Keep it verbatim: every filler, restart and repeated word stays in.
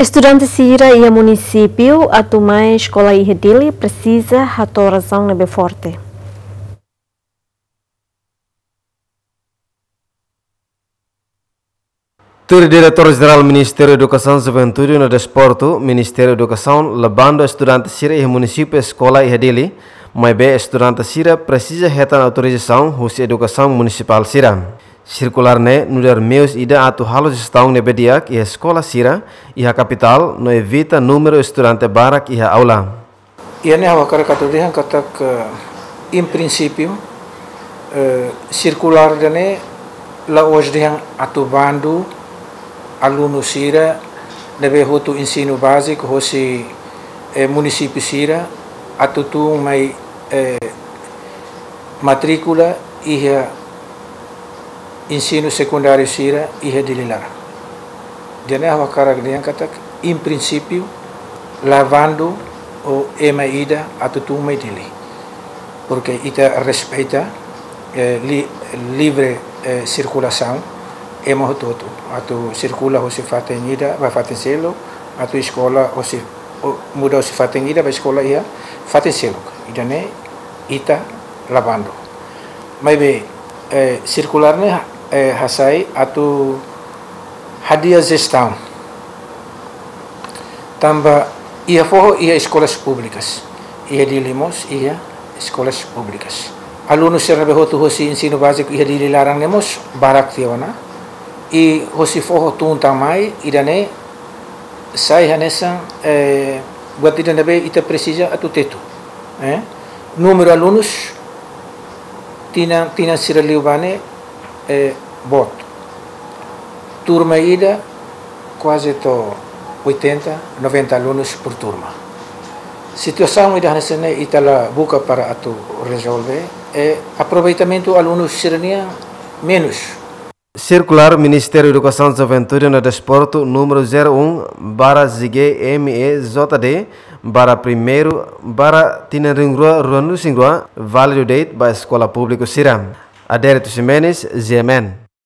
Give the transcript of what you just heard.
Estudante sira iha munisípiu atu mai eskola iha Dili presiza hato'o razaun ne'ebé forte. Tuir Diretór Jerál Ministériu Edukasaun, Juventude no Desportu, Ministériu Edukasaun la bandu estudante sira iha munisípiu eskola iha Dili, maibé estudante sira presiza hetan autorizasaun husi edukasaun munisipál sira. Sirkulár ne'e nu'udar meius ida atu halo jestaun ne'ebé di'ak iha eskola sira iha kapitál no evita númeru estudante barak iha aula. Iha ne'e ha'u hakarak atu dehan katak, eh, em princípio, eh, sirkulár ida-ne'e la'ós dehan atu bandu alunu sira ne'ebé hotu ensinu báziku hosi, eh, munisípiu sira atu tun mai, eh, matríkula iha ensinu sekundáriu sira iha Dili laran. Ida-ne'e ha'u hakarak dehan katak, em princípio, la bandu ema ida atu tun mai Dili. Porque ita respeita, eh, li-, livre, eh, sirkulasaun, ema hotu-hotu atu sirkula hosi fatin ida ba fatin seluk, atu eskola hosi, o, muda hosi fatin ida ba eskola iha fatin seluk. Ida-ne'e ita la bandu. Maibé, eh, sirkulár ne'e, eh, hasai atu hadi'a jestaun. Tanba iha foho iha eskolas públikas. Iha Dili mós iha eskolas públikas. Alunu sira ne'ebé hotu hosi ensinu báziku iha Dili laran ne'e mós barak tiha ona. I hosi foho tun tan mai, ida-ne'e sai hanesan, eh, buat ida ne'ebé ita presiza atu tetu. Eh? Númeru alunus tinan, tinan sira liubá ne'e, eh, boot. Turma ida kuaze to'o oitenta, noventa alunus por turma. Situasaun ida hanesan ne'e ita la buka para atu rezolve, eh, aproveitamentu alunus sira-nian menus. Sirkulár Ministériu Edukasaun, Juventude no Desportu númeru zero um barra G M E J D barra primeiru barra tinan rihun rua ruanulu-resin-rua, válidu de'it ba eskola públiku sira. Adérito Ximenes, G M N.